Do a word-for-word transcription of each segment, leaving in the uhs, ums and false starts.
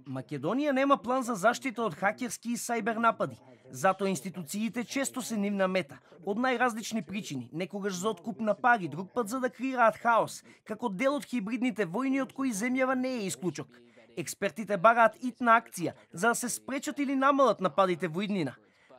Македонија нема план за заштита од хакерски и сајбер напади. Затоа институциите често се нивна мета, од најразлични причини, некогаш за откуп на пари, друг пат за да креираат хаос, како дел од хибридните војни од кои земјава не е исклучок. Експертите бараат итна акција за да се спречат или намалат нападите во иднина.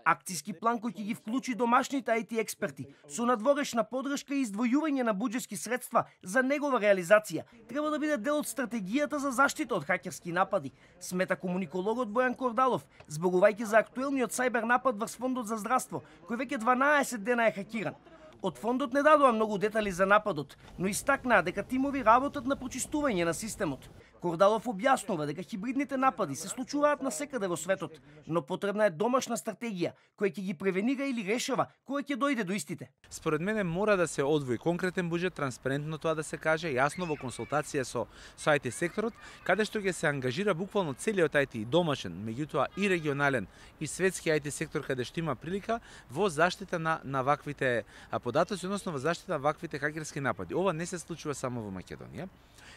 Акцијски план кој ќе ги вклучи домашните ай ти експерти со надворешна подршка и издвојување на буџетски средства за негова реализација треба да биде дел од стратегијата за заштита од хакерски напади, смета комуникологот Бојан Кордалов, зборувајќи за актуелниот сајбер напад врз Фондот за здравство, кој веќе дванаесет дена е хакиран. Од фондот не дадоа многу детали за нападот, но истакнаа дека тимови работат на прочистување на системот. Кордалов објаснува дека хибридните напади се случуваат насекаде во светот, но потребна е домашна стратегија која ќе ги превенира или решава кога ќе дојде до истите. Според мене мора да се одвои конкретен буџет, транспарентно тоа да се каже, јасно во консултација со со ай ти секторот, каде што ќе се ангажира буквално целиот ай ти домашен, меѓутоа и регионален и светски ай ти сектор каде што има прилика во заштита на на ваквите податоци, односно во заштита на ваквите хакерски напади. Ова не се случува само во Македонија,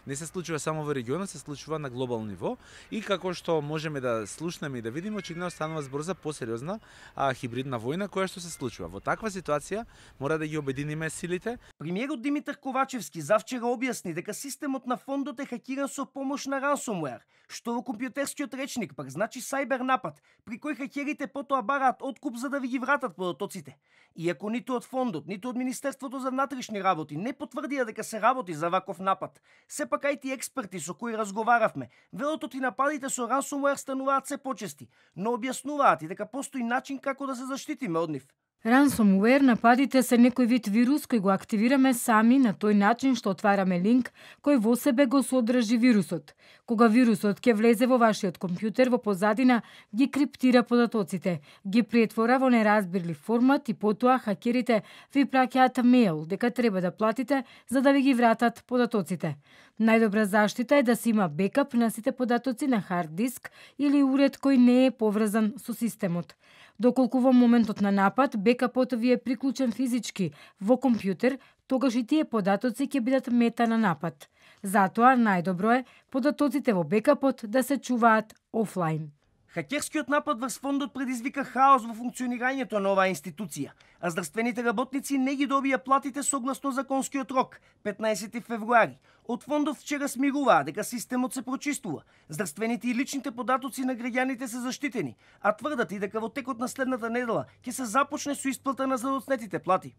не се случува само во регионот, се случува на глобално ниво и како што можеме да слушнеме и да видиме, очигледно станува збор за посериозна а, хибридна војна која што се случува. Во таква ситуација мора да ги обединиме силите. Премиерот Димитар Ковачевски завчера објасни дека системот на фондот е хакиран со помош на ransomware, што во компјутерскиот речник пак значи сајбер напад, при кој хакерите потоа бараат откуп за да ви ги вратат податоците. Иако ниту од фондот, ниту од Министерството за внатрешни работи не потврдија дека се работи за ваков напад, сепак ай ти експерти со кои разговаравме, велот и нападите со ransomware стануваат се почести, но објаснуваат и дека постои начин како да се заштитиме од нив. Ransomware нападите се некој вид вирус кој го активираме сами на тој начин што отвараме линк кој во себе го содржи вирусот. Кога вирусот ќе влезе во вашиот компјутер, во позадина ги криптира податоците, ги претвора во неразбирлив формат и потоа хакерите ви праќаат мејл дека треба да платите за да ви ги вратат податоците. Најдобра заштита е да се има бекап на сите податоци на хард диск или уред кој не е поврзан со системот. Доколку во моментот на напад бекапот ви е приклучен физички во компјутер, тогаш и тие податоци ќе бидат мета на напад. Затоа најдобро е податоците во бекапот да се чуваат офлайн. Хакерскиот напад врз фондот предизвика хаос во функционирањето на оваа институција, а здравствените работници не ги добија платите согласно законскиот рок, петнаесети февруари. Од фондот вчера смируваа дека системот се прочистува, здравствените и личните податоци на граѓаните се заштитени, а тврдат и дека во текот на следната недела ќе се започне со исплата на задоцнетите плати.